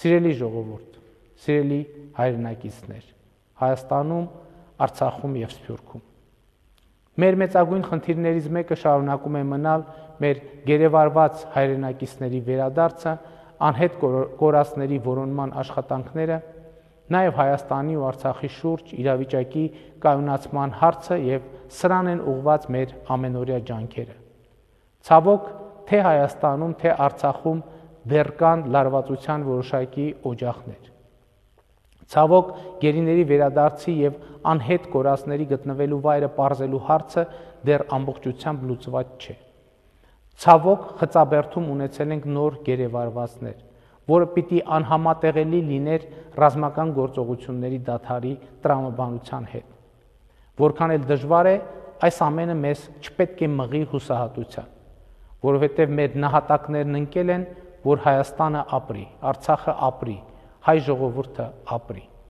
Սիրելի ժողովուրդ, սիրելի հայրենակիցներ, Հայաստանում, Արցախում և Սփյուռքում։ Մեր մեծագույն խնդիրներից մեկը շարունակում է մնալ մեր գերեվարված հայրենակիցների վերադարձը, անհետ կորածների որոնման աշխատանքները, նաև Հայաստանի ու Արցախի շուրջ իրավիճակի կայունացման հարցը և սրան են ուղղված մեր ամենօրյա ջանքերը։ Ցավոք, թե Հայաստանում, թե Արցախում դեռ կան լարվածության որոշակի օջախներ։ Ցավոք, գերիների վերադարձի և անհետ կորածների գտնվելու վայրը պարզելու հարցը դեռ ամբողջությամբ լուծված չէ։ Ցավոք, խծաբերդում ունեցել ենք նոր գերեվարվածներ, որը պիտի անհամատեղելի լիներ ռազմական գործողությունների դադարի տրամաբանության հետ։ Որքան էլ դժվար է, այս ամենը մեզ չպետք է մղի հուսահատության, որովհետև մեր նահատակներն ընկել են, որ Հայաստանը ապրի, Արցախը ապրի, հայ ժողովուրդը ապրի։